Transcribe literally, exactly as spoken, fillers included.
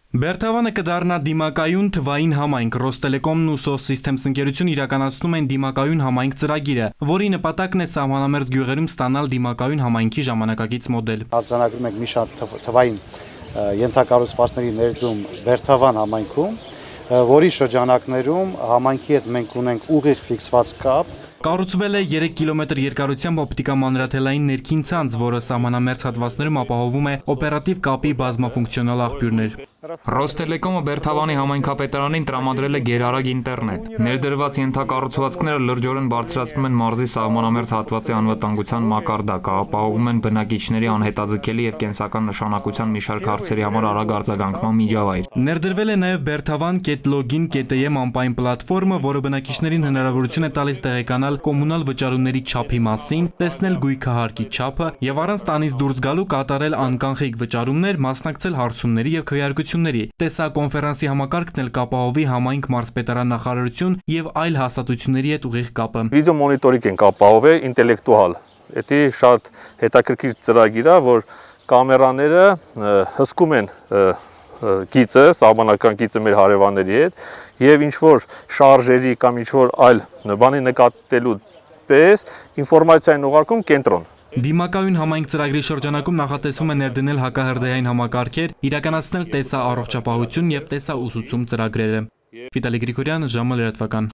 Բերթավանը կդառնա դիմակայուն թվային համայնք։ Ռոստելեկոմն ու Սոսիստեմս ընկերությունը իրականացնում են դիմակայուն համայնք ծրագիրը, որի նպատակն է սահմանամերձ գյուղերում ստանալ դիմակայուն համայնքի ժամանակակից մոդել։ Արձանագրում ենք մի շարք թվային ենթակառուցվածքների ներդրում Բերթավան համայնքում, որի շրջանակներում համայնքի հետ մենք ունենք ուղիղ ֆիքսված կապ։ Կառուցվել է երեք կիլոմետր երկարությամբ օպտիկամանրաթելային ներքին ցանց, որը սահմանամերձ հատվածներում ապահովում է օպերատիվ կապի բազմաֆունկցիոնալ աղբյուրներ։ Ռոստելեկոմը Բերթավանի համայնքապետարանին տրամադրել է գերարագ ինտերնետ։ Ներդրված ենթակառուցվածքները լրջորեն բարձրացնում են մարզի սահմանամերձ հատվածի անվտանգության մակարդակը, ապահովում են բնակիչների անհետաձգելի եւ կենսական նշանակության մի շարք հարցերի համար արագ արձագանքման միջավայր։ Ներդրվել է նաեւ Բերթավան կետ լոգին կետ էմ անպայն պլատֆորմը, որը բնակիչներին հնարավորություն է տալիս տեղեկանալ կոմունալ վճարումների չափի մասին, տեսնել գույքահարկի չափը եւ առանց տանից դուրս գալու կատարել անկանխիկ վճարումներ, մասնակցել հարցումների եւ քվեարկությունների։ Տեսակոնֆերանսի համակարգն էլ կապահովի համայնք մարզպետարան նախարարություն եւ այլ հաստատությունների հետ ուղիղ կապը։ Վիդեո մոնիտորինգ են կապահովել ինտելեկտուալ։ Դա շատ հետաքրքիր ծրագիր է, որ կամերաները հսկում են գիծը, սահմանական գիծը մեր հարևանների հետ եւ ինչ որ շարժերի կամ ինչ որ այլ բանի նկատելու պես ինֆորմացիա են ուղարկում կենտրոն։ Դիմակայուն համայնք ծրագրի շրջանակում նախատեսվում է ներդնել հակահրդեհային համակարգեր, իրականացնել տեսա առողջապահություն եւ տեսա ուսուցում ծրագրերը։ Վիտալի Գրիգորյան, ժամը լրատվական։